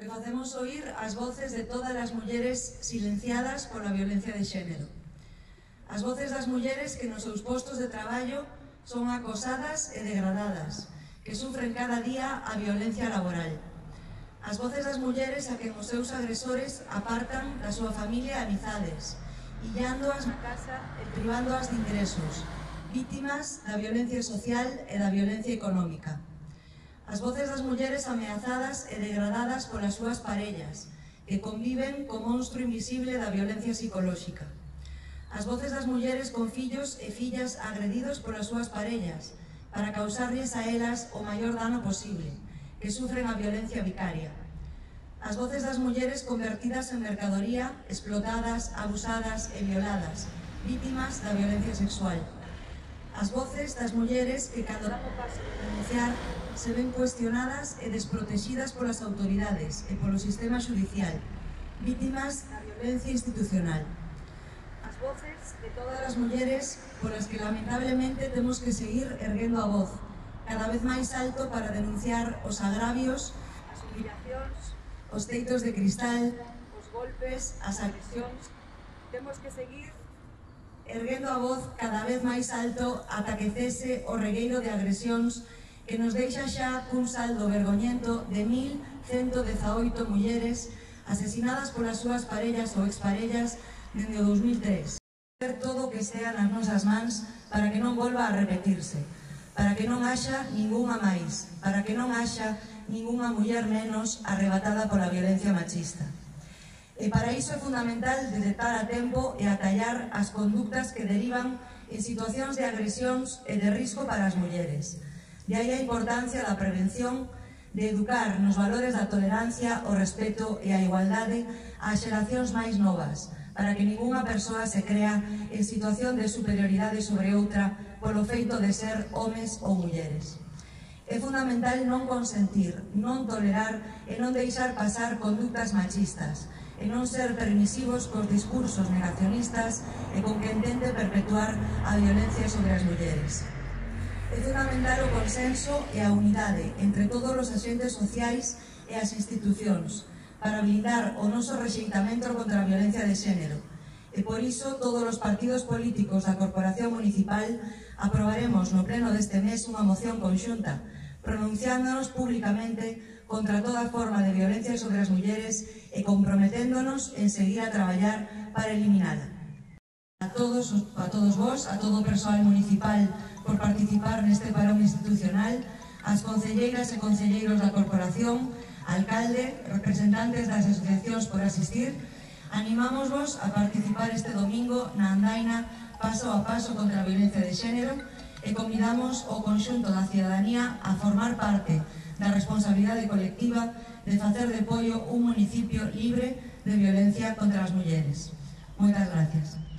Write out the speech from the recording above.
que facemos oír as voces de todas as mulleres silenciadas pola violencia de xénero. As voces das mulleres que nos seus postos de traballo son acosadas e degradadas, que sufren cada día a violencia laboral. As voces das mulleres a que os seus agresores apartan da súa familia e amizades, illándoas na casa e privándoas de ingresos, vítimas da violencia social e da violencia económica. As voces das mulleres ameazadas e degradadas polas súas parellas, que conviven co monstro invisible da violencia psicolóxica. As voces das mulleres con fillos e fillas agredidos polas súas parellas, para causarlles a elas o maior dano posible, que sufren a violencia vicaria. As voces das mulleres convertidas en mercadoría, explotadas, abusadas e violadas, vítimas da violencia sexual. As voces das mulleres que, cando dan o paso de denunciar, se ven cuestionadas e desprotegidas polas autoridades e polo sistema judicial, vítimas da violencia institucional. As voces de todas as mulleres polas que lamentablemente temos que seguir erguendo a voz, cada vez máis alto para denunciar os agravios, as humillacións, os teitos de cristal, os golpes, as agresións. Temos que seguir erguendo a voz cada vez máis alto ata que cese o regueiro de agresións que nos deixa xa cun saldo vergoñento de 1.118 mulleres asesinadas polas súas parellas ou exparellas dende o 2003. Facer todo o que sea nas nosas mans para que non volva a repetirse, para que non haxa ningunha máis, para que non haxa ningunha muller menos arrebatada pola violencia machista. E para iso é fundamental detectar a tempo e atallar as conductas que derivan en situacións de agresións e de risco para as mulleres. De aí a importancia da prevención, de educar nos valores da tolerancia, o respeto e a igualdade ás xeracións máis novas, para que ningunha persoa se crea en situación de superioridade sobre outra polo feito de ser homes ou mulleres. É fundamental non consentir, non tolerar e non deixar pasar conductas machistas, e non ser permisivos cos discursos negacionistas e con que intente perpetuar a violencia sobre as mulleres. É fundamental o consenso e a unidade entre todos os axentes sociais e as institucións para blindar o noso rexeitamento contra a violencia de xénero. E por iso todos os partidos políticos da Corporación Municipal aprobaremos no pleno deste mes unha moción conxunta pronunciándonos públicamente contra toda forma de violencia sobre as mulleres e comprometéndonos en seguir a traballar para eliminala. A todos vos, a todo o persoal municipal por participar neste parón institucional, as concelleiras e concelleiros da Corporación, alcalde, representantes das asociacións por asistir, animámosvos a participar este domingo na andaina Paso a Paso contra a violencia de xénero e convidamos o conxunto da cidadanía a formar parte da responsabilidade colectiva de facer de Poio un municipio libre de violencia contra as mulleres. Moitas gracias.